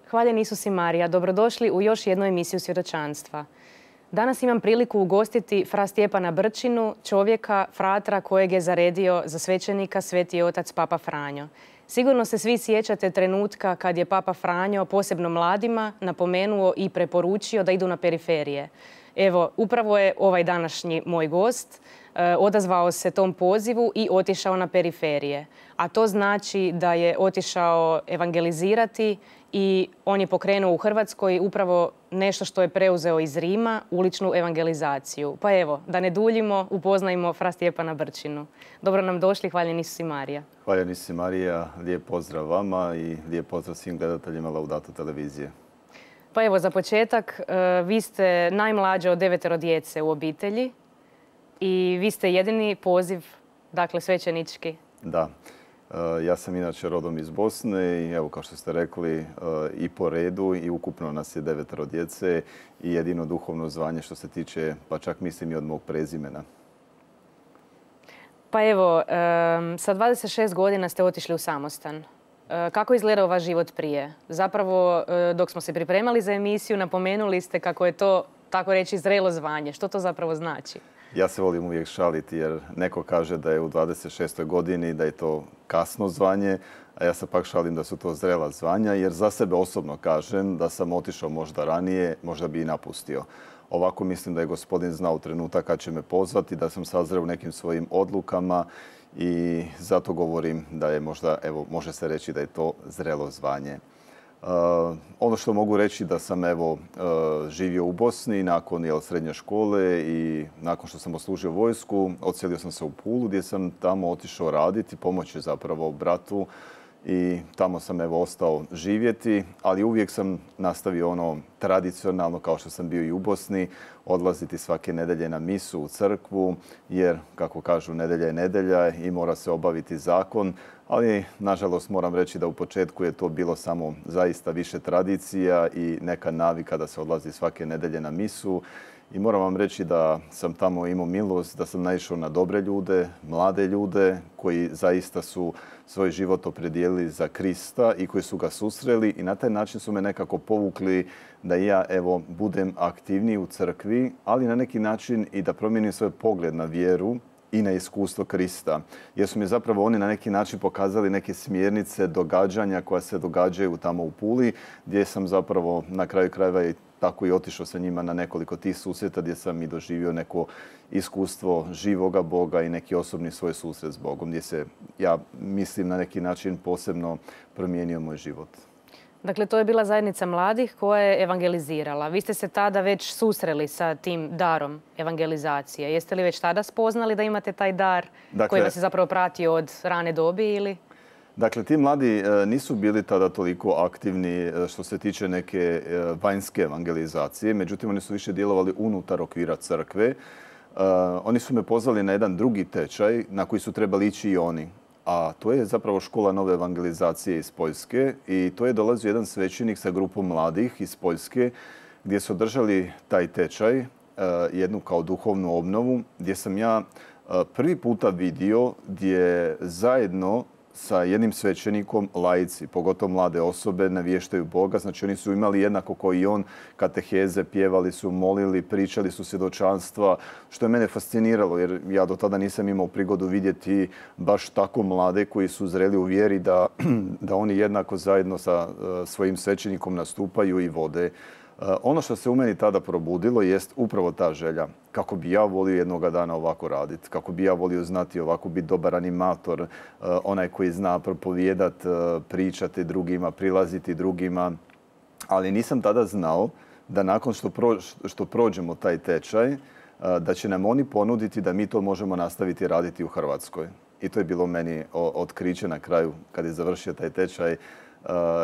Hvaljen Isus i Marija, dobrodošli u još jednu emisiju svjedočanstva. Danas imam priliku ugostiti fra Stjepana Brčinu, čovjeka, fratra kojeg je zaredio za svećenika Sveti otac Papa Franjo. Sigurno se svi sjećate trenutka kad je Papa Franjo, posebno mladima, napomenuo i preporučio da idu na periferije. Evo, upravo je ovaj današnji moj gost odazvao se tom pozivu i otišao na periferije. A to znači da je otišao evangelizirati i on je pokrenuo u Hrvatskoj upravo nešto što je preuzeo iz Rima, uličnu evangelizaciju. Pa evo, da ne duljimo, upoznajmo fra Stjepana Brčinu. Dobro nam došli, hvaljen Isus i Marija. Hvaljen Isus i Marija, lijep pozdrav vama i lijep pozdrav svim gledateljima Laudato televizije. Pa evo, za početak, vi ste najmlađe od 9 djece u obitelji i vi ste jedini poziv, dakle svećenički. Da. Ja sam inače rodom iz Bosne i evo kao što ste rekli i po redu i ukupno nas je 9 djece i jedino duhovno zvanje što se tiče, pa čak mislim i od mog prezimena. Pa evo, sa 26 godina ste otišli u samostan. Kako je izgledao vaš život prije? Zapravo, dok smo se pripremali za emisiju, napomenuli ste kako je to, tako reći, zrelo zvanje. Što to zapravo znači? Ja se volim uvijek šaliti jer neko kaže da je u 26. godini da je to kasno zvanje, a ja se pak šalim da su to zrela zvanja jer za sebe osobno kažem da sam otišao možda ranije, možda bi i napustio. Ovako mislim da je Gospodin znao trenutak kad će me pozvati, da sam sazreo u nekim svojim odlukama i zato govorim da je možda, evo, može se reći da je to zrelo zvanje. Ono što mogu reći da sam živio u Bosni nakon srednje škole i nakon što sam odslužio vojsku, odselio sam se u Pulu gdje sam tamo otišao raditi, pomoći zapravo bratu i tamo sam ostao živjeti, ali uvijek sam nastavio ono tradicionalno kao što sam bio i u Bosni, odlaziti svake nedjelje na misu u crkvu jer, kako kažu, nedjelja je nedjelja i mora se obaviti zakon, ali nažalost moram reći da u početku je to bilo samo zaista više tradicija i neka navika da se odlazi svake nedjelje na misu. I moram vam reći da sam tamo imao milost, da sam naišao na dobre ljude, mlade ljude koji zaista su svoj život opredijelili za Krista i koji su ga susreli i na taj način su me nekako povukli da ja budem aktivniji u crkvi, ali na neki način i da promijenim svoj pogled na vjeru i na iskustvo Krista. Jer su mi zapravo oni na neki način pokazali neke smjernice događanja koja se događaju tamo u Puli, gdje sam zapravo na kraju krajeva i tako i otišao sa njima na nekoliko tih susreta gdje sam i doživio neko iskustvo živoga Boga i neki osobni svoj susret s Bogom, gdje se, ja mislim, na neki način posebno promijenio moj život. Dakle, to je bila zajednica mladih koja je evangelizirala. Vi ste se tada već susreli sa tim darom evangelizacije. Jeste li već tada spoznali da imate taj dar koji vas je zapravo pratio od rane dobi ili? Dakle, ti mladi nisu bili tada toliko aktivni što se tiče neke vanjske evangelizacije, međutim oni su više djelovali unutar okvira crkve. Oni su me pozvali na jedan drugi tečaj na koji su trebali ići i oni. A to je zapravo škola nove evangelizacije iz Poljske i to je dolazio jedan svećenik sa grupom mladih iz Poljske gdje su održali taj tečaj, jednu kao duhovnu obnovu, gdje sam ja prvi puta vidio gdje zajedno sa jednim svećenikom laici, pogotovo mlade osobe, navještaju Boga. Znači oni su imali jednako kao i on kateheze, pjevali su, molili, pričali su svjedočanstva, što je mene fasciniralo jer ja do tada nisam imao prigodu vidjeti baš tako mlade koji su zreli u vjeri da oni jednako zajedno sa svojim svećenikom nastupaju i vode. Ono što se u meni tada probudilo jest upravo ta želja. Kako bi ja volio jednoga dana ovako raditi, kako bi ja volio znati ovako biti dobar animator, onaj koji zna propovijedat, pričati drugima, prilaziti drugima. Ali nisam tada znao da nakon što prođemo taj tečaj, da će nam oni ponuditi da mi to možemo nastaviti raditi u Hrvatskoj. I to je bilo meni otkriće na kraju kad je završio taj tečaj.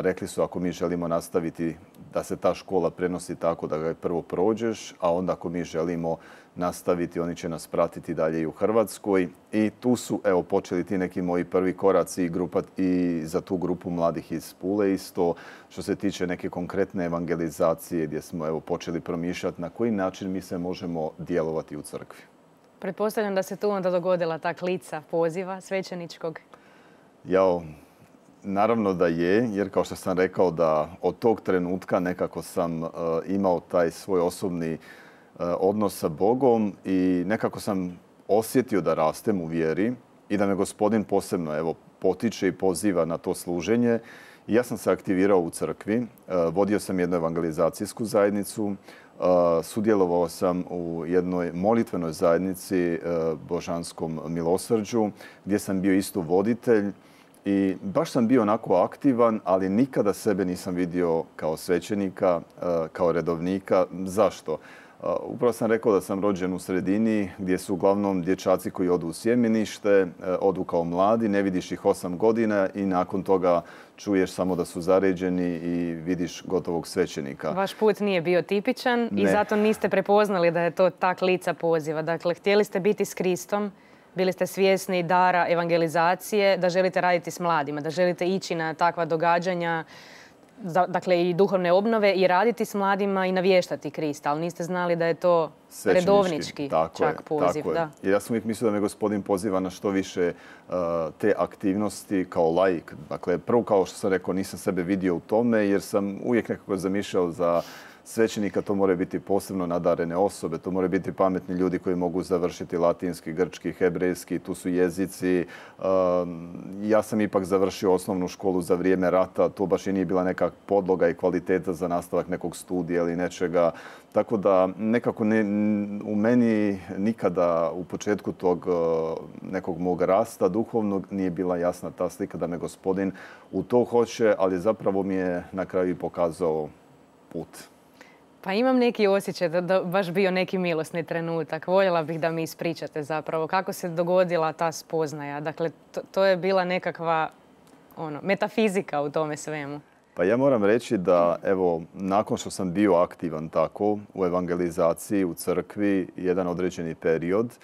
Rekli su ako mi želimo nastaviti da se ta škola prenosi tako da ga prvo prođeš, a onda ako mi želimo nastaviti, oni će nas pratiti dalje i u Hrvatskoj. I tu su počeli ti neki moji prvi koraci i za tu grupu mladih iz Pule isto što se tiče neke konkretne evangelizacije gdje smo počeli promišljati na koji način mi se možemo djelovati u crkvi. Pretpostavljam da se tu onda dogodila ta klica poziva svećeničkog. naravno da je, jer kao što sam rekao da od tog trenutka nekako sam imao taj svoj osobni odnos sa Bogom i nekako sam osjetio da rastem u vjeri i da me Gospodin posebno potiče i poziva na to služenje. I ja sam se aktivirao u crkvi, vodio sam jednu evangelizacijsku zajednicu, sudjelovao sam u jednoj molitvenoj zajednici Božanskom milosrđu gdje sam bio isto voditelj i baš sam bio onako aktivan, ali nikada sebe nisam vidio kao svećenika, kao redovnika. Zašto? Upravo sam rekao da sam rođen u sredini gdje su uglavnom dječaci koji odu u sjemenište, odu kao mladi, ne vidiš ih 8 godina i nakon toga čuješ samo da su zaređeni i vidiš gotovog svećenika. Vaš put nije bio tipičan i zato niste prepoznali da je to tak lica poziva. Dakle, htjeli ste biti s Kristom, bili ste svjesni dara evangelizacije, da želite raditi s mladima, da želite ići na takva događanja, dakle i duhovne obnove i raditi s mladima i navještati Krista, ali niste znali da je to redovnički čak poziv. Tako je. Jer ja sam uvijek mislio da me Gospodin poziva na što više te aktivnosti kao laik. Dakle, prvo kao što sam rekao, nisam sebe vidio u tome jer sam uvijek nekako zamišljao za svećenika to moraju biti posebno nadarene osobe, to moraju biti pametni ljudi koji mogu završiti latinski, grčki, hebrejski, tu su jezici. Ja sam ipak završio osnovnu školu za vrijeme rata, to baš i nije bila neka podloga i kvaliteta za nastavak nekog studija ili nečega. Tako da nekako u meni nikada u početku tog nekog mog rasta duhovnog nije bila jasna ta slika da me Gospodin u to hoće, ali zapravo mi je na kraju i pokazao put. Pa imam neki osjećaj da baš bio neki milosni trenutak. Voljela bih da mi ispričate zapravo kako se dogodila ta spoznaja. Dakle, to je bila nekakva metafizika u tome svemu. Pa ja moram reći da, evo, nakon što sam bio aktivan tako u evangelizaciji, u crkvi, jedan određeni period,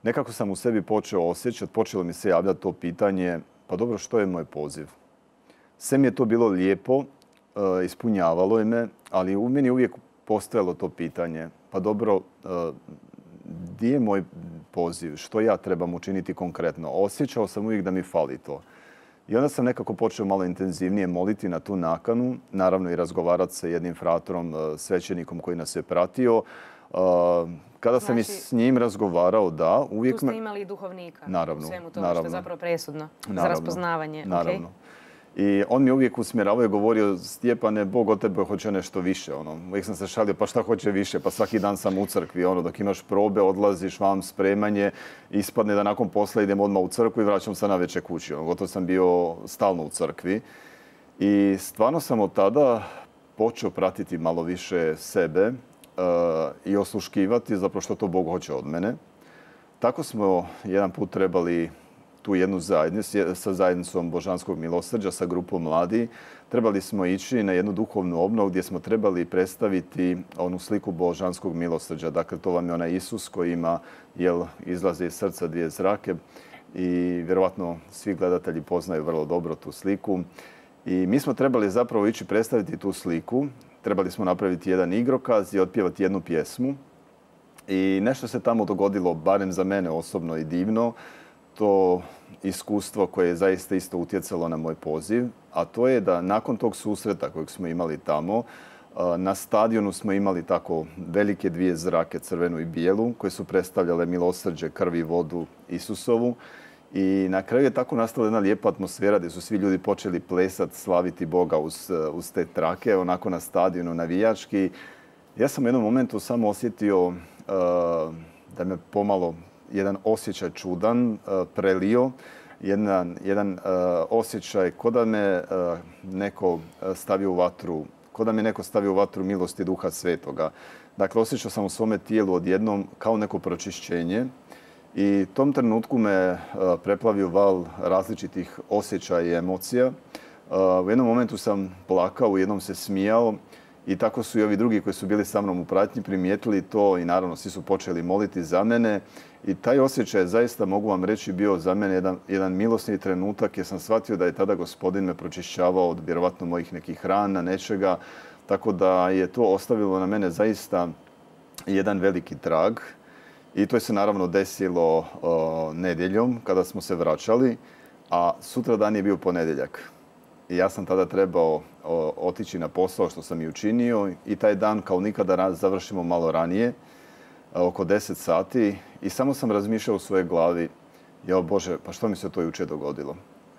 nekako sam u sebi počeo osjećati, počelo mi se javljati to pitanje, pa dobro, što je moj poziv? Sve mi je to bilo lijepo, ispunjavalo je me, ali u meni uvijek postojalo to pitanje, pa dobro, gdje je moj poziv? Što ja trebam učiniti konkretno? Osjećao sam uvijek da mi fali to. I onda sam nekako počeo malo intenzivnije moliti na tu nakanu, naravno i razgovarati sa jednim fratorom, svećenikom koji nas je pratio. Kada sam i s njim razgovarao, da, uvijek... Tu ste imali i duhovnika naravno, u svemu tome što je zapravo presudno za raspoznavanje. Naravno. I on mi uvijek usmjeravao i govorio, Stjepane, Bog od tebe hoće nešto više. Uvijek sam se šalio, pa šta hoće više? Pa svaki dan sam u crkvi. Dok imaš probe, odlaziš vam spremanje, ispadne da nakon posla idem odmah u crkvu i vraćam se navečer kući. Gotovo sam bio stalno u crkvi. I stvarno sam od tada počeo pratiti malo više sebe i osluškivati zapravo što to Bog hoće od mene. Tako smo jedan put trebali tu jednu zajednicu sa zajednicom Božanskog milosrđa, sa grupom mladi. Trebali smo ići na jednu duhovnu obnovu gdje smo trebali predstaviti onu sliku Božanskog milosrđa. Dakle, to vam je onaj Isus koji ima, izlaze iz srca dvije zrake i vjerojatno svi gledatelji poznaju vrlo dobro tu sliku. I mi smo trebali zapravo ići predstaviti tu sliku. Trebali smo napraviti jedan igrokaz i otpjevati jednu pjesmu. I nešto se tamo dogodilo, barem za mene osobno i divno, to iskustvo koje je zaista isto utjecalo na moj poziv, a to je da nakon tog susreta kojeg smo imali tamo, na stadionu smo imali tako velike dvije zrake, crvenu i bijelu, koje su predstavljale milosrđe, krv i vodu Isusovu. I na kraju je tako nastala jedna lijepa atmosfera gdje su svi ljudi počeli plesati, slaviti Boga uz te trake, onako na stadionu navijački. Ja sam u jednom momentu samo osjetio da me pomalo jedan osjećaj čudan prelio, jedan osjećaj ko da me neko stavio u vatru, ko da me neko stavio u vatru milosti Duha Svetoga. Dakle, osjećao sam u svome tijelu odjednom kao neko pročišćenje i tom trenutku me preplavio val različitih osjećaja i emocija. U jednom momentu sam plakao, u jednom se smijao i tako su i ovi drugi koji su bili sa mnom u pratnji primijetili to i naravno svi su počeli moliti za mene. I taj osjećaj zaista, mogu vam reći, bio za mene jedan milosni trenutak jer sam shvatio da je tada Gospodin me pročišćavao od vjerovatno mojih nekih rana, nečega. Tako da je to ostavilo na mene zaista jedan veliki trag. I to je se naravno desilo nedjeljom kada smo se vraćali, a sutra dan je bio ponedjeljak. I ja sam tada trebao otići na posao što sam i učinio i taj dan kao nikada završimo malo ranije, oko 10 sati i samo sam razmišljao u svojoj glavi, jao Bože, pa što mi se to jučer dogodilo?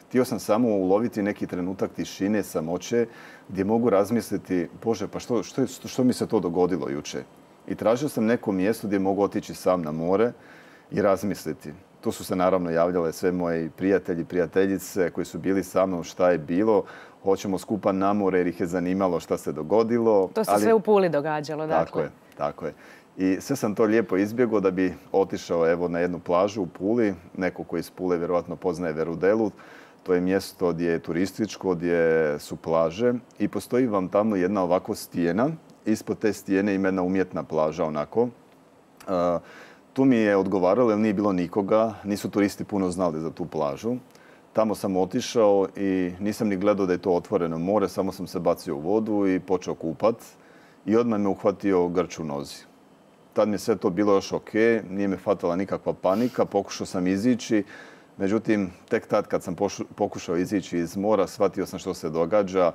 Htio sam samo uloviti neki trenutak tišine, samoće, gdje mogu razmisliti, Bože, pa što mi se to dogodilo jučer? I tražio sam neko mjesto gdje mogu otići sam na more i razmisliti. Tu su se naravno javljale sve moji prijatelji, prijateljice koji su bili sa mnom, šta je bilo. Hoćemo skupa na more jer ih je zanimalo šta se dogodilo. To se sve u Puli događalo, dakle. Tako je. I sve sam to lijepo izbjegao da bi otišao evo na jednu plažu u Puli. Neko koji iz Pule vjerojatno poznaje Verudelu. To je mjesto gdje je turističko, gdje su plaže i postoji vam tamo jedna ovako stijena. Ispod te stijene ima jedna umjetna plaža onako. Tu mi je odgovaralo jer nije bilo nikoga, nisu turisti puno znali za tu plažu. Tamo sam otišao i nisam ni gledao da je to otvoreno more, samo sam se bacio u vodu i počeo kupat i odmah me uhvatio grč u nozi. Tad mi je sve to bilo još ok, nije me fatala nikakva panika, pokušao sam izići. Međutim, tek tad kad sam pokušao izići iz mora, shvatio sam što se događa,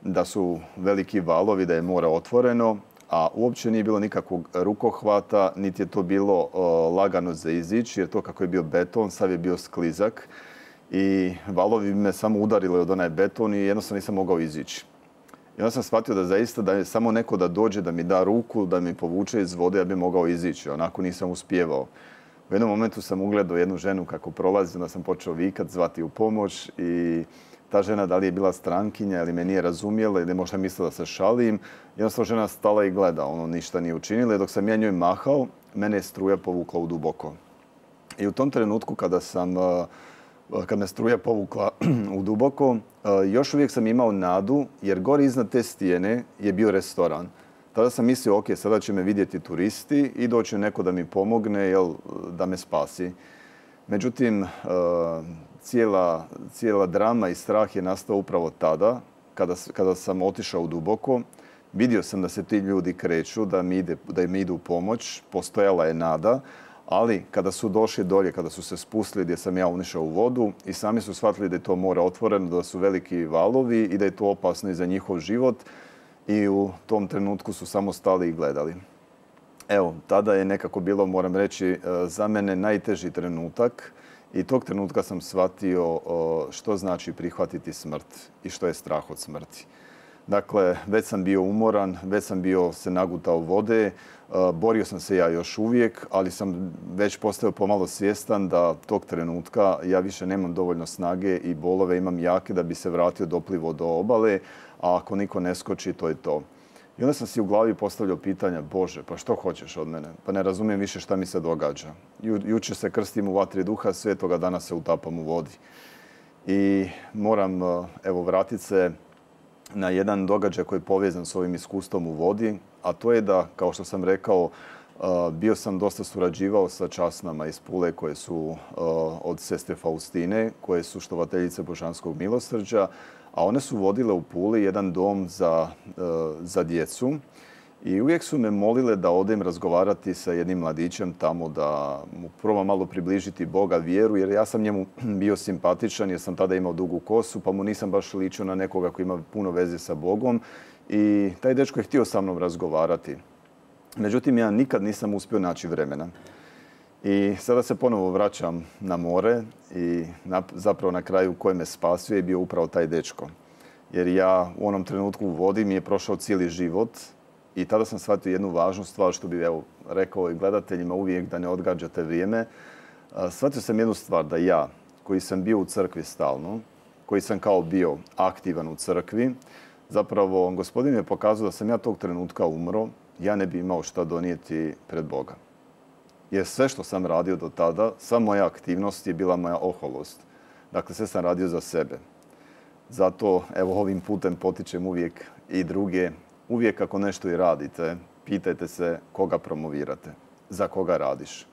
da su veliki valovi, da je more otvoreno, a uopće nije bilo nikakvog rukohvata, niti je to bilo lagano za izići, jer to kako je bio beton, sav je bio sklizak i valovi me samo udarili od onaj beton i jednostavno nisam mogao izići. I onda sam shvatio da zaista da je samo neko da dođe, da mi da ruku, da mi povuče iz vode, ja bi mogao izići. Onako nisam uspijevao. U jednom momentu sam ugledao jednu ženu kako prolazi, onda sam počeo vikat, zvati u pomoć i ta žena da li je bila strankinja ili me nije razumjela ili možda mislila da se šalim. Jednostavno žena stala i gleda, ništa nije učinila. I dok sam ja njoj mahao, mene je struja povukla u duboko. I u tom trenutku kad me struja povukla u duboko, još uvijek sam imao nadu jer gore iznad te stijene je bio restoran. Tada sam mislio, ok, sada će me vidjeti turisti i doći neko da mi pomogne, da me spasi. Međutim, cijela drama i strah je nastao upravo tada, kada sam otišao u duboko. Vidio sam da se ti ljudi kreću, da im idu u pomoć, postojala je nada, ali kada su došli dolje, kada su se spustili gdje sam ja unišao u vodu i sami su shvatili da je to more otvoreno, da su veliki valovi i da je to opasno i za njihov život i u tom trenutku su samo stali i gledali. Evo, tada je nekako bilo, moram reći, za mene najteži trenutak i tog trenutka sam shvatio što znači prihvatiti smrt i što je strah od smrti. Dakle, već sam bio umoran, već sam bio se nagutao vode, borio sam se ja još uvijek, ali sam već postao pomalo svjestan da tog trenutka ja više nemam dovoljno snage i bolove imam jake da bi se vratio doplivo do obale, a ako niko ne skoči, to je to. I onda sam si u glavi postavljao pitanja, Bože, pa što hoćeš od mene? Pa ne razumijem više šta mi se događa. Jučer se krstim u vatri duha svetoga, danas se utapam u vodi. I moram, vratiti se na jedan događaj koji je povezan s ovim iskustvom u vodi, a to je da, kao što sam rekao, bio sam dosta surađivao sa časnama iz Pule koje su od sestre Faustine, koje su štovateljice Božanskog milosrđa, a one su vodile u Puli jedan dom za djecu i uvijek su me molile da odem razgovarati sa jednim mladićem tamo, da mu probam malo približiti Boga, vjeru, jer ja sam njemu bio simpatičan jer sam tada imao dugu kosu, pa mu nisam baš ličio na nekoga koji ima puno veze sa Bogom i taj dečko je htio sa mnom razgovarati. Međutim, ja nikad nisam uspio naći vremena. I sada se ponovo vraćam na more i zapravo na kraju koji me spasio je bio upravo taj dečko. Jer ja u onom trenutku u vodi mi je prošao cijeli život i tada sam shvatio jednu važnu stvar što bih rekao i gledateljima uvijek da ne odgađate vrijeme. Shvatio sam jednu stvar da ja koji sam bio u crkvi stalno, koji sam kao bio aktivan u crkvi, zapravo Gospodin je pokazao da sam ja tog trenutka umro, ja ne bi imao šta donijeti pred Boga. Jer sve što sam radio do tada, sva moja aktivnost je bila moja oholost. Dakle, sve sam radio za sebe. Zato, ovim putem potičem uvijek i druge. Uvijek ako nešto i radite, pitajte se koga promovirate, za koga radiš.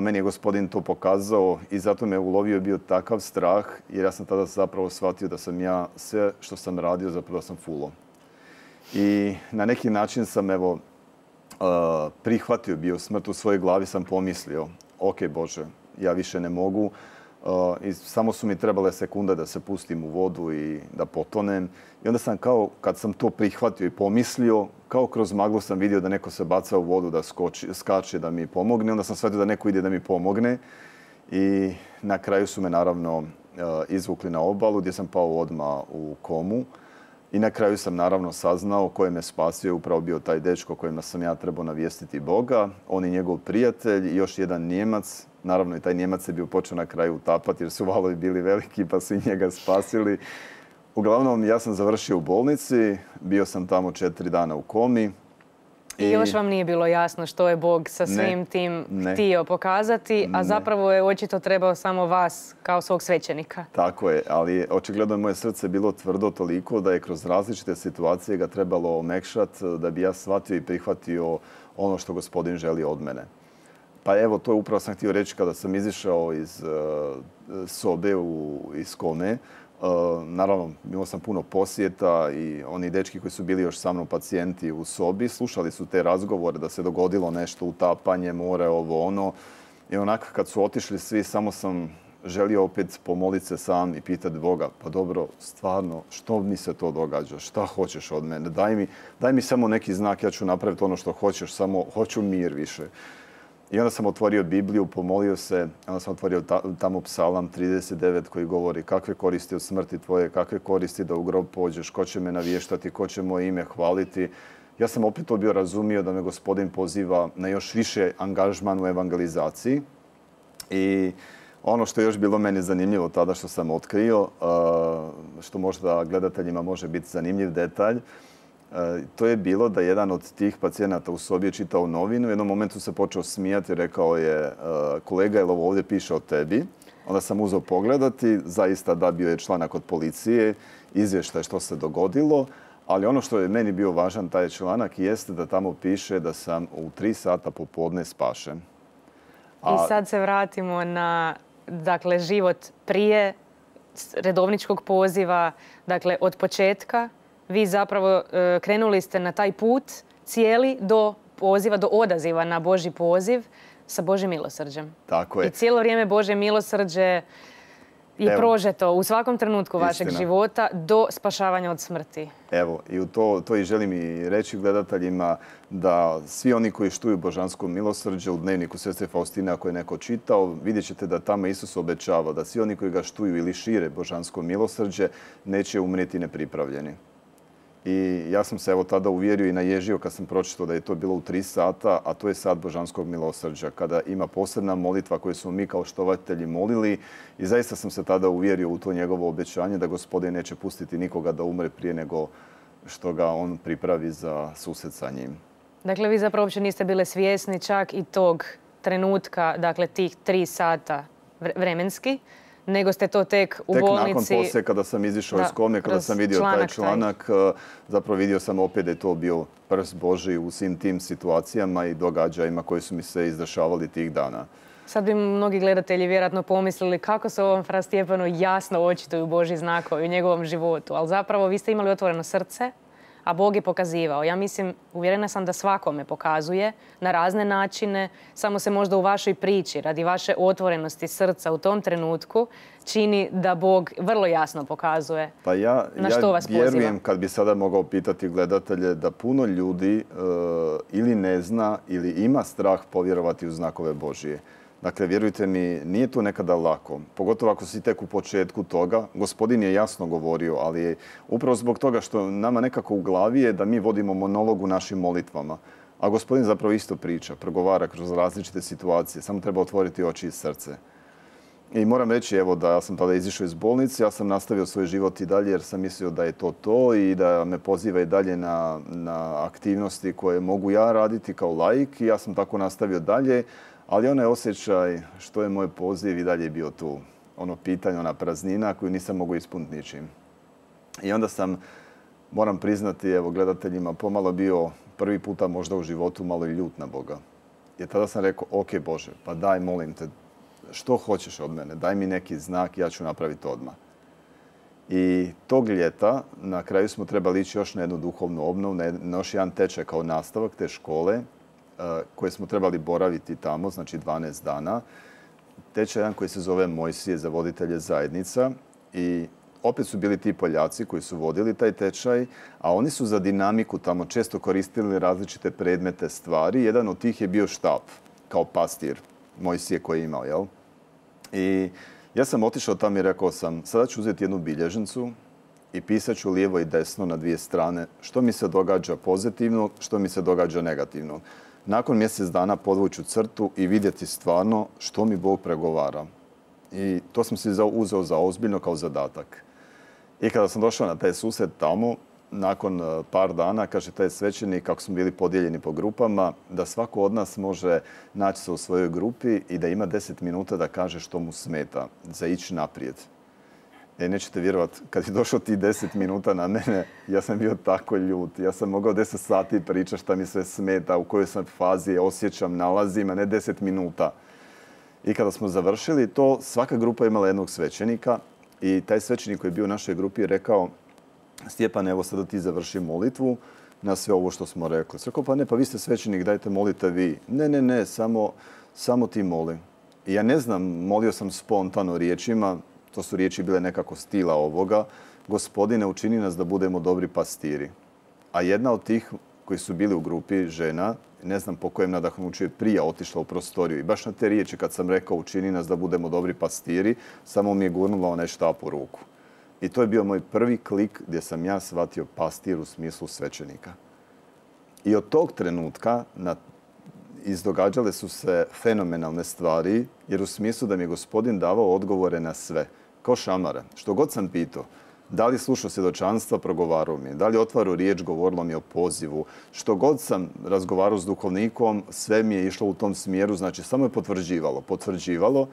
Meni je Gospodin to pokazao i zato me ulovio bio takav strah, jer ja sam tada zapravo shvatio da sam ja sve što sam radio zapravo sam fulo. I na neki način sam prihvatio bio smrt u svojoj glavi, sam pomislio, ok Bože, ja više ne mogu, I samo su mi trebale sekunde da se pustim u vodu i da potonem. I onda sam kao, kad sam to prihvatio i pomislio, kao kroz maglu sam vidio da neko se baca u vodu, da skače da mi pomogne. Onda sam shvatio da neko ide da mi pomogne. I na kraju su me naravno izvukli na obalu gdje sam pao odmah u komu. I na kraju sam naravno saznao ko je me spasio, upravo bio taj dečko kojima sam ja trebao navijestiti Boga. On i njegov prijatelj i još jedan Nijemac. Naravno i taj Nijemac je bio počeo na kraju utapati jer su valovi bili veliki pa su i njega spasili. Uglavnom ja sam završio u bolnici, bio sam tamo 4 dana u komi. I još vam nije bilo jasno što je Bog sa svim tim htio pokazati, a zapravo je očito trebao samo vas kao svog svećenika. Tako je, ali očigledno je moje srce bilo tvrdo toliko da je kroz različite situacije ga trebalo omekšati da bi ja shvatio i prihvatio ono što Gospodin želi od mene. Pa evo, to je upravo sam htio reći kada sam izišao iz sobe iz kome. Naravno, imao sam puno posjeta i oni dečki koji su bili još sa mnom pacijenti u sobi, slušali su te razgovore da se dogodilo nešto, utapanje, more, ovo, ono. I onako kad su otišli svi, samo sam želio opet pomoliti se sam i pitati Boga, pa dobro, stvarno, što mi se to događa? Šta hoćeš od mene? Daj mi samo neki znak, ja ću napraviti ono što hoćeš, samo hoću mir više. I onda sam otvorio Bibliju, pomolio se, onda sam otvorio tamo Psalam 39 koji govori kakve koristi od smrti tvoje, kakve koristi da u grob pođeš, ko će me navještati, ko će moje ime hvaliti. Ja sam opet to bio razumio da me Gospodin poziva na još više angažman u evangelizaciji. I ono što je još bilo meni zanimljivo tada što sam otkrio, što možda gledateljima može biti zanimljiv detalj, to je bilo da jedan od tih pacijenata u sobi je čitao novinu. U jednom momentu se počeo smijati i rekao je kolega, jel ovo ovdje piše o tebi? Onda sam uzeo pogledati, zaista da, bio je članak od policije, izvještaj što se dogodilo, ali ono što je meni bio važan taj članak jeste da tamo piše da sam u 3 sata popodne spašen. I sad se vratimo na život prije redovničkog poziva, dakle od početka. Vi zapravo krenuli ste na taj put cijeli do poziva, do odaziva na Božji poziv sa Božjim milosrđem. Tako je. I cijelo vrijeme Božje milosrđe je prožeto u svakom trenutku vašeg života do spašavanja od smrti. Evo, i to i želim i reći gledateljima da svi oni koji štuju božansko milosrđe u dnevniku sestre Faustine, ako je neko čitao, vidjet ćete da tamo Isus obećava da svi oni koji ga štuju ili šire božansko milosrđe neće umrijeti nepripravljeni. I ja sam se evo tada uvjerio i naježio kad sam pročitao da je to bilo u 3 sata, a to je sat božanskog milosrđa, kada ima posebna molitva koju smo mi kao štovatelji molili i zaista sam se tada uvjerio u to njegovo obećanje da Gospodin neće pustiti nikoga da umre prije nego što ga on pripravi za susret sa njim. Dakle, vi zapravo uopće niste bili svjesni čak i tog trenutka, dakle tih 3 sata vremenski, nego ste to tek u bolnici... Tek nakon poslije, kada sam izišao iz kome, kada sam vidio taj članak, zapravo vidio sam opet da je to bio prst Božji u svim tim situacijama i događajima koji su mi se izdešavali tih dana. Sad bi mnogi gledatelji vjerojatno pomislili kako se ovom fra Stjepanu jasno očituju Božji znakovi u njegovom životu, ali zapravo vi ste imali otvoreno srce, a Bog je pokazivao. Ja mislim, uvjerena sam da svakome pokazuje na razne načine, samo se možda u vašoj priči, radi vaše otvorenosti srca u tom trenutku, čini da Bog vrlo jasno pokazuje na što vas poziva. Ja vjerujem, kad bi sada mogao pitati gledatelje, da puno ljudi ili ne zna ili ima strah povjerovati u znakove Božije. Dakle, vjerujte mi, nije to nekada lako. Pogotovo ako si tek u početku toga. Gospodin je jasno govorio, ali je upravo zbog toga što nama nekako u glavi je da mi vodimo monolog u našim molitvama. A Gospodin zapravo isto priča, progovara kroz različite situacije. Samo treba otvoriti oči i srce. I moram reći, evo, da ja sam tada izišao iz bolnice, ja sam nastavio svoj život i dalje jer sam mislio da je to i da me poziva i dalje na aktivnosti koje mogu ja raditi kao laik i ja sam tako nastavio dalje. Ali onaj osjećaj što je moj poziv i dalje bio tu. Ono pitanje, ona praznina koju nisam mogao ispuniti ničim. I onda sam, moram priznati, evo, gledateljima, pomalo bio prvi puta možda u životu malo i ljut na Boga. Jer tada sam rekao, ok Bože, pa daj, molim te, što hoćeš od mene? Daj mi neki znak, ja ću napraviti odmah. I tog ljeta, na kraju smo trebali ići još na jednu duhovnu obnovu, na još jedan tečaj kao nastavak te škole, koje smo trebali boraviti tamo, znači 12 dana. tečaj jedan koji se zove Mojsije za voditelje zajednica i opet su bili ti Poljaci koji su vodili taj tečaj, a oni su za dinamiku tamo često koristili različite predmete, stvari. Jedan od tih je bio štap, kao pastir Mojsije koji je imao, jel? I ja sam otišao tamo i rekao sam, sada ću uzeti jednu bilježnicu i pisat ću lijevo i desno na dvije strane što mi se događa pozitivno, što mi se događa negativno. Nakon mjesec dana podvuću crtu i vidjeti stvarno što mi Bog pregovara. I to sam si uzeo za ozbiljno kao zadatak. I kada sam došao na taj susret tamo, nakon par dana, kaže taj svećenik, kako smo bili podijeljeni po grupama, da svako od nas može naći se u svojoj grupi i da ima 10 minuta da kaže što mu smeta, za ići naprijed. Nećete vjerovati, kad je došlo ti 10 minuta na mene, ja sam bio tako ljut. Ja sam mogao 10 sati pričati šta mi sve smeta, u kojoj sam fazi osjećam, nalazim, a ne 10 minuta. I kada smo završili to, svaka grupa je imala jednog svećenika i taj svećenik koji je bio u našoj grupi je rekao: Stjepan, evo sada ti završi molitvu na sve ovo što smo rekli. Rekao, pa ne, pa vi ste svećenik, dajte molite vi. Ne, samo ti moli. I ja ne znam, molio sam spontano riječima, to su riječi bile nekako stila ovoga: Gospodine, učini nas da budemo dobri pastiri. A jedna od tih koji su bili u grupi, žena, ne znam po kojem nadahnuću je prije otišla u prostoriju. I baš na te riječi kad sam rekao učini nas da budemo dobri pastiri, samo mi je gurnula onaj štap u ruku. I to je bio moj prvi klik gdje sam ja shvatio pastir u smislu svećenika. I od tog trenutka izdogađale su se fenomenalne stvari, jer u smislu da mi je Gospodin davao odgovore na sve. Kao šamare. Što god sam pitao, da li slušao svjedočanstva, progovarao mi je. Da li otvarao riječ, govorilo mi o pozivu. Što god sam razgovarao s duhovnikom, sve mi je išlo u tom smjeru. Znači, samo je potvrđivalo.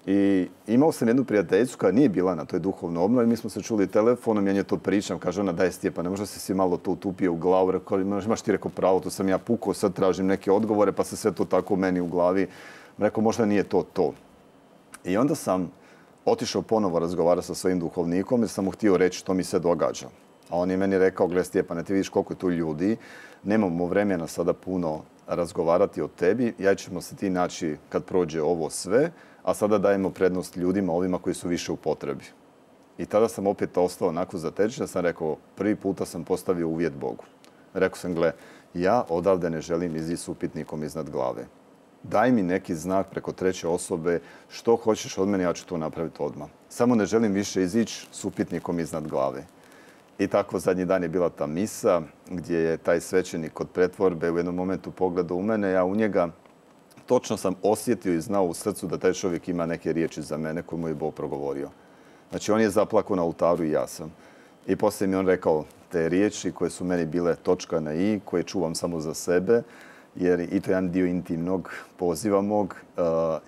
I imao sam jednu prijateljicu koja nije bila na toj duhovnoj obnovi. Mi smo se čuli telefonom, ja nje to pričam. Kaže ona, daj Stjepan, ne možda si malo to utupio u glavu. Rekao, imaš ti, rekao, pravo, to sam ja pukao, sad tražim neke odgovore, pa se sve to tako meni u glavi. Rekao, možda nije to. I onda sam otišao ponovo razgovarati sa svojim duhovnikom jer sam mu htio reći što mi se događa. A on je meni rekao, gle Stjepane, ti vidiš koliko je tu ljudi, nemamo vremena sada puno razgovarati o tebi, ja ćemo se ti naći kad prođe ovo sve, a sada dajemo prednost ljudima, ovima koji su više u potrebi. I tada sam opet ostao onako zatečen, sam rekao, prvi puta sam postavio uvjet Bogu. Rekao sam, gle, ja odavde ne želim izići s upitnikom iznad glave. Daj mi neki znak preko treće osobe, što hoćeš od mene, ja ću to napraviti odmah. Samo ne želim više izići s upitnikom iznad glave. I tako zadnji dan je bila ta misa gdje je taj svećenik kod pretvorbe u jednom momentu pogledao u mene, ja u njega. Točno sam osjetio i znao u srcu da taj čovjek ima neke riječi za mene koje mu je Bog progovorio. Znači on je zaplakao na oltaru i ja sam. I poslije mi on rekao te riječi koje su meni bile točka na i, koje čuvam samo za sebe, jer i to je jedan dio intimnog poziva mog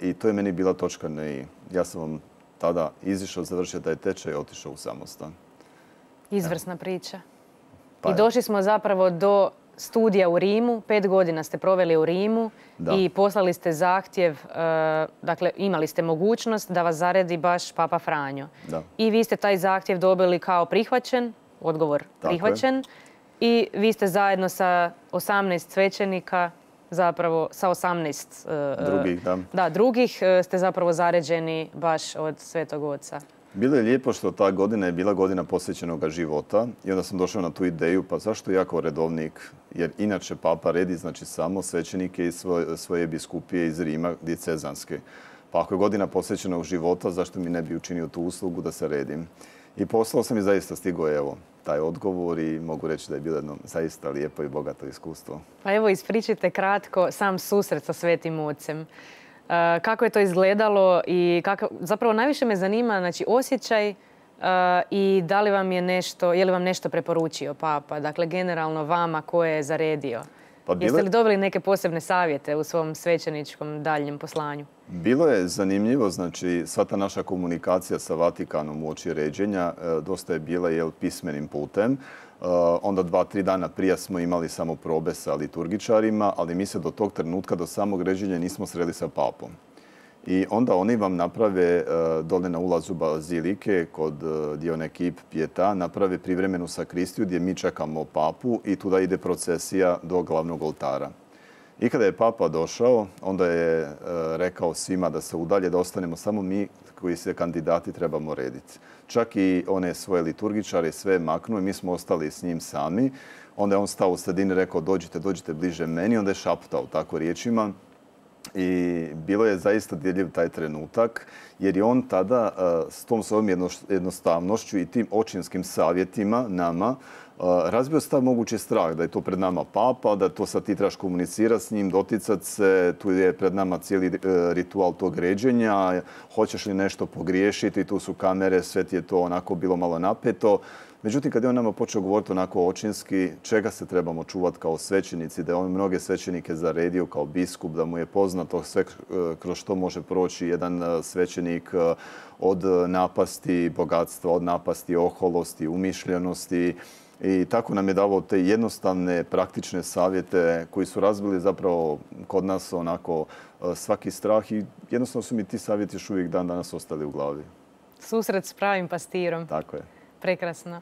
i to je meni bila točka na i. Ja sam vam tada izišao, završio taj tečaj i otišao u samostan. Izvrsna priča. I došli smo zapravo do studija u Rimu. 5 godina ste proveli u Rimu i poslali ste zahtjev, dakle imali ste mogućnost da vas zaredi baš Papa Franjo. I vi ste taj zahtjev dobili kao prihvaćen, odgovor prihvaćen. I vi ste zajedno sa 18 svećenika, zapravo sa 18 drugih ste zapravo zaređeni baš od Svetog Oca. Bilo je lijepo što ta godina je bila godina posvećenog života i onda sam došao na tu ideju, pa zašto ja kao redovnik, jer inače Papa redi znači samo svećenike iz svoje biskupije iz Rima, dicezanske. Pa ako je godina posvećenog života, zašto mi ne bi učinio tu uslugu da se redim? I poslao sam i zaista stigao evo taj odgovor i mogu reći da je bilo jedno zaista lijepo i bogato iskustvo. Pa evo ispričajte kratko sam susret sa Svetim Ocem. Kako je to izgledalo i zapravo najviše me zanima znači, osjećaj i da li vam je je li vam nešto preporučio Papa, dakle generalno vama ko je zaredio. Jeste li dobili neke posebne savjete u svom svećeničkom daljnjem poslanju? Bilo je zanimljivo, znači sva ta naša komunikacija sa Vatikanom uoči ređenja dosta je bila pismenim putem. Onda 2-3 dana prije smo imali samo probe sa liturgičarima, ali mi se do tog trenutka, do samog ređenja nismo sreli sa papom. I onda oni vam naprave dole na ulazu bazilike kod Dione Kip Pieta, naprave privremenu sakristiju gdje mi čekamo papu i tuda ide procesija do glavnog oltara. I kada je papa došao, onda je rekao svima da se udalje, da ostanemo samo mi koji se kandidati trebamo rediti. Čak i one svoje liturgičare sve maknuo i mi smo ostali s njim sami. Onda je on stao u sredini i rekao dođite bliže meni. Onda je šaptao tako riječima. I bilo je zaista dirljiv taj trenutak, jer je on tada s tom svojom jednostavnošću i tim očinskim savjetima nama razbio stav mogući strah da je to pred nama papa, da to sad ti trebaš komunicirati s njim, doticati se, tu je pred nama cijeli ritual tog ređenja, hoćeš li nešto pogriješiti, tu su kamere, sve ti je to onako bilo malo napeto. Međutim, kad je on nama počeo govoriti onako očinski, čega se trebamo čuvati kao svećenici, da je on mnoge svećenike zaredio kao biskup, da mu je poznato sve kroz što može proći jedan svećenik od napasti bogatstva, od napasti oholosti, umišljenosti. I tako nam je davao te jednostavne, praktične savjete koji su razbili zapravo kod nas onako svaki strah i jednostavno su mi ti savjeti još uvijek dan danas ostali u glavi. Susret s pravim pastirom. Tako je. Prekrasno.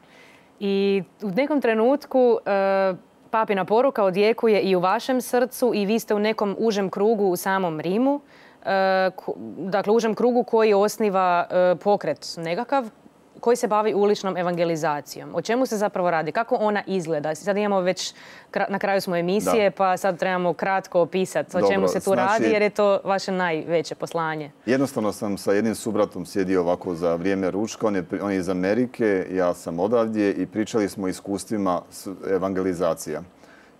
I u nekom trenutku papina poruka odjekuje i u vašem srcu i vi ste u nekom užem krugu u samom Rimu. Dakle, užem krugu koji osniva pokret nekakav koji se bavi uličnom evangelizacijom. O čemu se zapravo radi? Kako ona izgleda? Sad imamo već, na kraju smo emisije, pa sad trebamo kratko opisati o čemu se tu radi, jer je to vaše najveće poslanje. Jednostavno sam sa jednim subratom sjedio ovako za vrijeme ručka. On je iz Amerike, ja sam odavdje i pričali smo o iskustvima evangelizacija.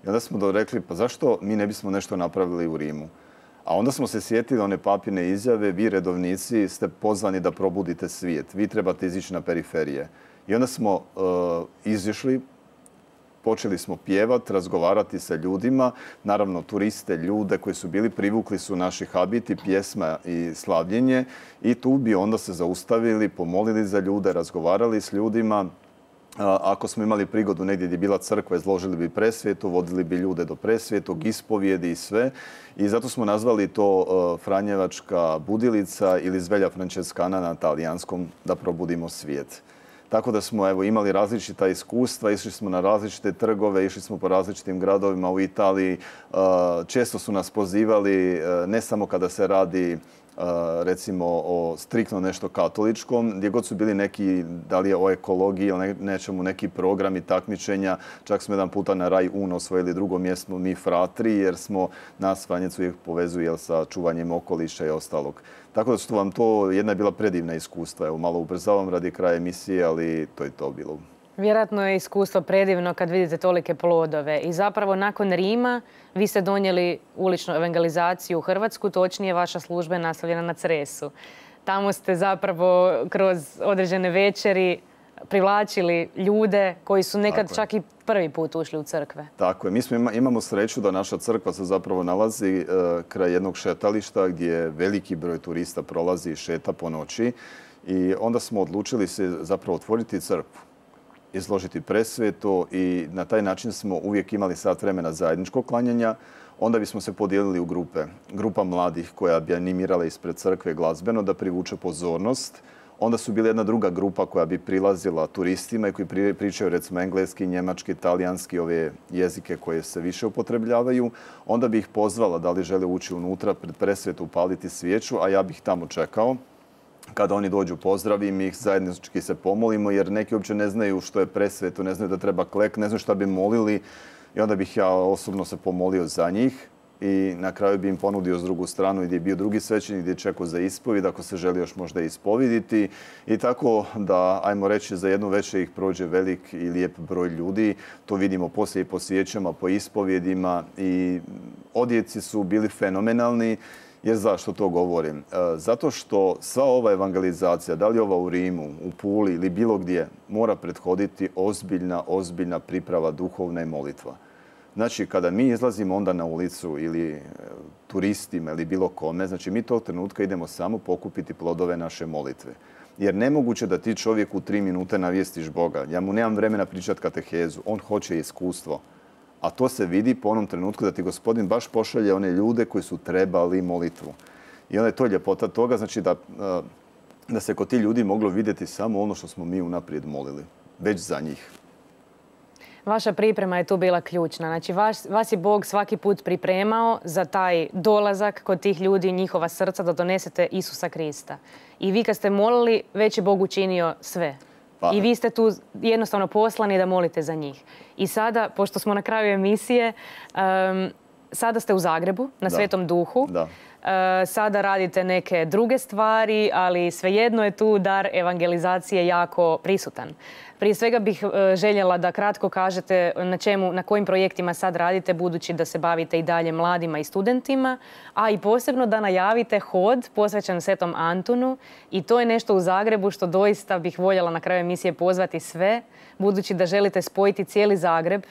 I onda smo rekli, pa zašto mi ne bismo nešto napravili u Rimu? A onda smo se sjetili one papine izjave, vi redovnici ste pozvani da probudite svijet, vi trebate izići na periferije. I onda smo izišli, počeli smo pjevati, razgovarati sa ljudima, naravno turiste, ljude koji su bili, privukli su naši habiti, pjesma i slavljenje i tu bi onda se zaustavili, pomolili za ljude, razgovarali s ljudima. Ako smo imali prigodu negdje gdje je bila crkva, izložili bi presvjetu, vodili bi ljude do presvjetog, ispovijedi i sve. I zato smo nazvali to Franjevačka budilica ili Zvelja Franceskana na talijanskom, da probudimo svijet. Tako da smo imali različita iskustva, išli smo na različite trgove, išli smo po različitim gradovima u Italiji. Često su nas pozivali, ne samo kada se radi recimo o striktno nešto katoličkom, gdje god su bili neki, da li je o ekologiji ili nečemu, neki programi takmičenja. Čak smo jedan puta na Raj Uno osvojili drugo mjesto mi fratri, jer smo nas Franjevci uvijek povezuje sa čuvanjem okoliša i ostalog. Tako da su vam to jedna je bila predivna iskustva. Evo, malo ubrzavam radi kraja emisije, ali to je to bilo. Vjerojatno je iskustvo predivno kad vidite tolike plodove. I zapravo nakon Rima vi ste donijeli uličnu evangelizaciju u Hrvatsku, točnije vaša služba je nastavljena na Cresu. Tamo ste zapravo kroz određene večeri privlačili ljude koji su nekad čak i prvi put ušli u crkve. Tako je. Mi imamo sreću da naša crkva se zapravo nalazi kraj jednog šetališta gdje veliki broj turista prolazi i šeta po noći. I onda smo odlučili se zapravo otvoriti crkvu, izložiti presvetu i na taj način smo uvijek imali sat vremena zajedničkog klanjanja. Onda bismo se podijelili u grupe. Grupa mladih koja bi animirala ispred crkve glazbeno da privuče pozornost. Onda su bila jedna druga grupa koja bi prilazila turistima i koji pričaju recimo engleski, njemački, talijanski, ove jezike koje se više upotrebljavaju. Onda bi ih pozvala da li žele ući unutra pred presvetu, upaliti svijeću, a ja bih tamo čekao. Kada oni dođu, pozdravim ih, zajednički se pomolimo, jer neki uopće ne znaju što je presveto, ne znaju da treba klek, ne znaju šta bi molili. I onda bih ja osobno se pomolio za njih i na kraju bi im ponudio s drugu stranu gdje je bio drugi svećenik, gdje je čekao za ispovijed, ako se želi još možda ispoviditi. I tako da, ajmo reći, za jednu večer ih prođe velik i lijep broj ljudi. To vidimo poslije i po svijećama, po ispovjedima i odjeci su bili fenomenalni. Jer zašto to govorim? Zato što sva ova evangelizacija, da li ova u Rimu, u Puli ili bilo gdje, mora prethoditi ozbiljna priprava duhovna i molitva. Znači, kada mi izlazimo onda na ulicu ili turistima ili bilo kome, znači mi tog trenutka idemo samo pokupiti plodove naše molitve. Jer nemoguće da ti čovjek u 3 minute navijestiš Boga. Ja mu nemam vremena pričati katehezu, on hoće iskustvo. A to se vidi po onom trenutku da ti Gospodin baš pošalje one ljude koji su trebali molitvu. I onda je to ljepota toga, znači da se kod ti ljudi moglo vidjeti samo ono što smo mi unaprijed molili, već za njih. Vaša priprema je tu bila ključna. Znači, vas je Bog svaki put pripremao za taj dolazak kod tih ljudi, njihova srca, da donesete Isusa Krista. I vi kad ste molili, već je Bog učinio sve. I vi ste tu jednostavno poslani da molite za njih. I sada, pošto smo na kraju emisije, sada ste u Zagrebu, na Svetom Duhu. Da. Sada radite neke druge stvari, ali svejedno je tu dar evangelizacije jako prisutan. Prije svega bih željela da kratko kažete na kojim projektima sad radite, budući da se bavite i dalje mladima i studentima, a i posebno da najavite hod posvećen Svetom Antunu, i to je nešto u Zagrebu što doista bih voljela na kraju emisije pozvati sve, budući da želite spojiti cijeli Zagreb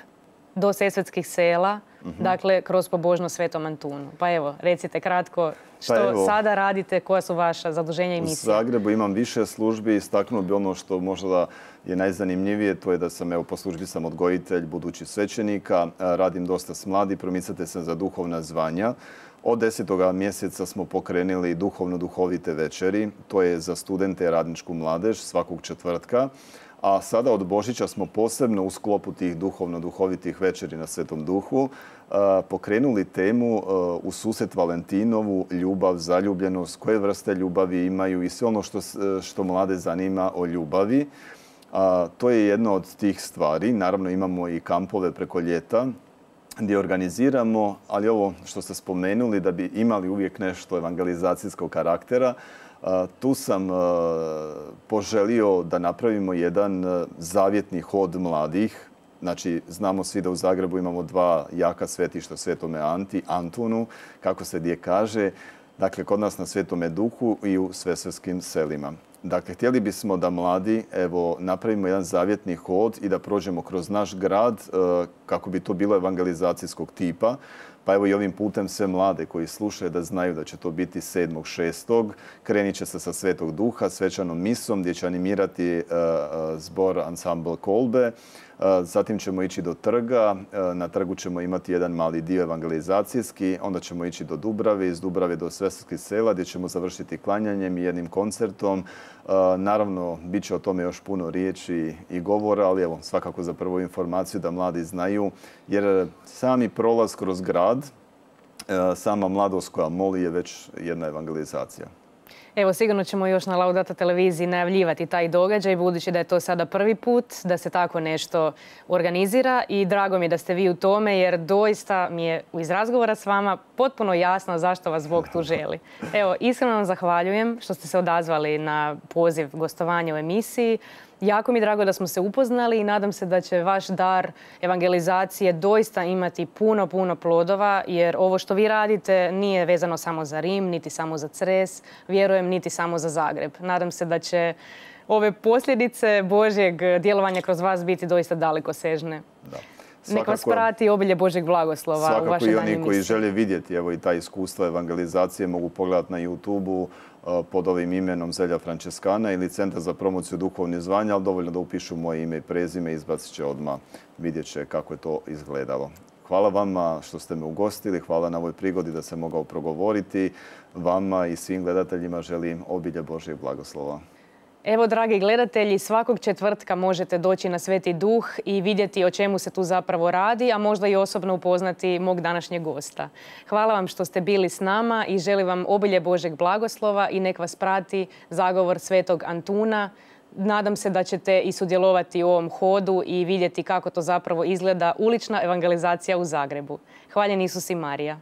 do Sesvetskih sela, dakle kroz pobožnost Svetom Antunu. Pa evo, recite kratko što sada radite, koja su vaša zaduženja i misije. U Zagrebu imam više službi, istaknuo bi ono što možda je najzanimljivije, to je da sam, po službi sam odgojitelj, budući svećenika, radim dosta s mladi, promicate se za duhovna zvanja. Od 10. mjeseca smo pokrenuli duhovite večeri, to je za studente i radničku mladež svakog četvrtka. A sada od Božića smo posebno u sklopu tih duhovitih večeri na Svetom Duhu pokrenuli temu u susret Valentinovu, ljubav, zaljubljenost, koje vrste ljubavi imaju i sve ono što mlade zanima o ljubavi. To je jedna od tih stvari. Naravno imamo i kampove preko ljeta gdje organiziramo, ali ovo što ste spomenuli, da bi imali uvijek nešto evangelizacijskog karaktera, tu sam poželio da napravimo jedan zavjetni hod mladih. Znači, znamo svi da u Zagrebu imamo dva jaka svetišta, Svetome Antunu, kako se gdje kaže, dakle, kod nas na Svetome Duhu i u Svesvetskim selima. Dakle, htjeli bismo da mladi napravimo jedan zavjetni hod i da prođemo kroz naš grad kako bi to bilo evangelizacijskog tipa. Pa evo i ovim putem sve mlade koji slušaju da znaju da će to biti 7.6. Krenit će se sa Svetog Duha, svečanom misom gdje će animirati zbor Ansambl Kolbe. Zatim ćemo ići do trga. Na trgu ćemo imati jedan mali dio evangelizacijski. Onda ćemo ići do Dubrave, iz Dubrave do Sesvetskih sela gdje ćemo završiti klanjanjem i jednim koncertom. Naravno, bit će o tome još puno riječi i govora, ali evo, svakako za prvu informaciju da mladi znaju, jer sami prolaz kroz grad, sama mladost koja moli je već jedna evangelizacija. Evo, sigurno ćemo još na Laudata televiziji najavljivati taj događaj, budući da je to sada prvi put da se tako nešto organizira, i drago mi je da ste vi u tome, jer doista mi je iz razgovora s vama potpuno jasno zašto vas Bog tu želi. Evo, iskreno vam zahvaljujem što ste se odazvali na poziv gostovanja u emisiji. Jako mi je drago da smo se upoznali i nadam se da će vaš dar evangelizacije doista imati puno plodova, jer ovo što vi radite nije vezano samo za Rim, niti samo za Cres, vjerujem niti samo za Zagreb. Nadam se da će ove posljedice Božjeg djelovanja kroz vas biti doista dalekosežne. Nek vas prati obilje Božjeg blagoslova u vašoj danjoj misiji. Svakako i oni koji žele vidjeti i ta iskustva evangelizacije mogu pogledati na YouTube-u pod ovim imenom Zelja Frančeskana ili Centar za promociju duhovnih zvanja, ali dovoljno da upišu moje ime i prezime i izbacit će odmah, vidjet će kako je to izgledalo. Hvala vama što ste me ugostili, hvala na ovoj prigodi da sam mogao progovoriti. Vama i svim gledateljima želim obilje Božjeg blagoslova. Evo, dragi gledatelji, svakog četvrtka možete doći na Sveti Duh i vidjeti o čemu se tu zapravo radi, a možda i osobno upoznati mog današnjeg gosta. Hvala vam što ste bili s nama i želim vam obilje Božjeg blagoslova i nek vas prati zagovor Svetog Antuna. Nadam se da ćete i sudjelovati u ovom hodu i vidjeti kako to zapravo izgleda ulična evangelizacija u Zagrebu. Hvaljen Isus i Marija.